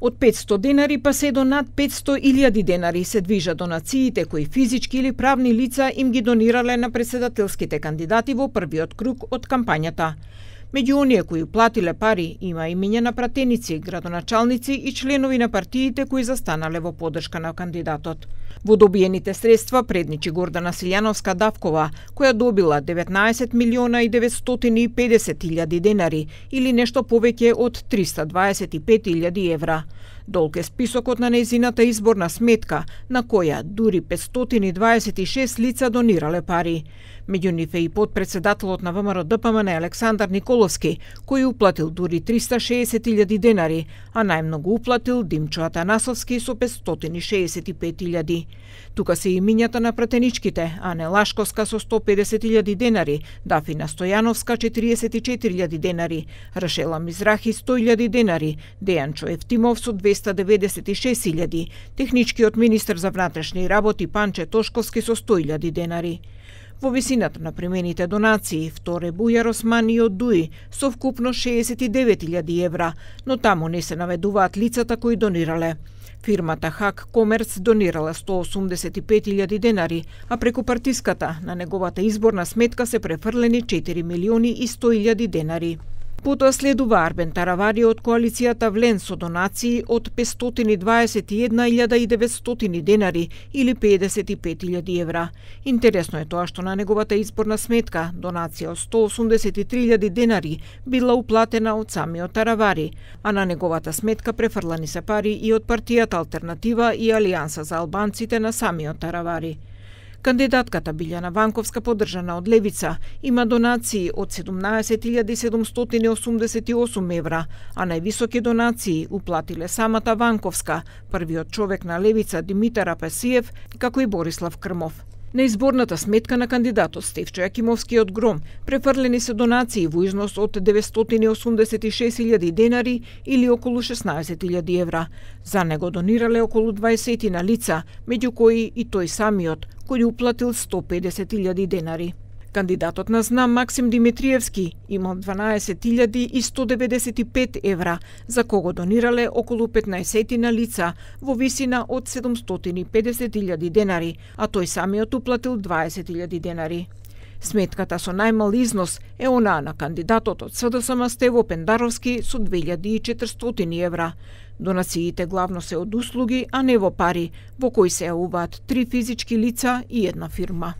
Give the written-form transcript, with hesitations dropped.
Од 500 денари па се до над 500.000 денари се движат донациите кои физички или правни лица им ги донирале на претседателските кандидати во првиот круг од кампањата. Меѓу оние кои платиле пари има имиња на пратеници, градоначалници и членови на партиите кои застанале во поддршка на кандидатот. Во добиените средства предничи Гордана Силјановска-Давкова, која добила 19.950.000 денари или нешто повеќе од 325.000 евра. Долг е списокот на нејзината изборна сметка, на која дури 526 лица донирале пари. Меѓу нив е и подпредседателот на ВМРО-ДПМН Александар Николовски, кој уплатил дури 360.000 денари, а најмногу уплатил Димчо Атанасовски со 565.000. Тука се имињата на пратеничките: Ане Лашковска со 150.000 денари, Дафина Стојановска 44.000 денари, Рашела Мизрахи 100.000 денари, Дејанчо Евтимов со 296.000, техничкиот министер за внатрешни работи Панче Тошковски со 100.000 денари. Во висината на примените донации, Вторе Бујар Османи од ДУИ со вкупно 69.000 евра, но таму не се наведуваат лицата кои донирале. Фирмата Хак Комерц донирала 185.000 денари, а преку партиската на неговата изборна сметка се префрлени 4.100.000 денари. Потоа следува Арбен Таравари од коалицијата Влен со донации од 521.900 денари или 55.000 евра. Интересно е тоа што на неговата изборна сметка донација од 183.000 денари била уплатена од самиот Таравари, а на неговата сметка префрлани се пари и од партијата Алтернатива и Алијанса за албанците на самиот Таравари. Кандидатката Билјана Ванковска, поддржана од Левица, има донации од 17.788 евра, а највисоки донации уплатиле самата Ванковска, првиот човек на Левица Димитар Апасиев, како и Борислав Крмов. На изборната сметка на кандидатот Стефчо Јакимовски од Гром префрлени се донации во износ од 986.000 денари или околу 16.000 евра. За него донирале околу 20 на лица, меѓу кои и тој самиот, кој уплатил 150.000 денари. Кандидатот на ЗНАМ Максим Димитриевски има 12.195 евра, за кого донирале околу 15 на лица во висина од 750.000 денари, а тој самиот уплатил 20.000 денари. Сметката со најмал износ е онаа на кандидатот од СДСМ Стево Пендаровски со 2.400 евра. Донациите главно се од услуги, а не во пари, во кои се јавуваат 3 физички лица и една фирма.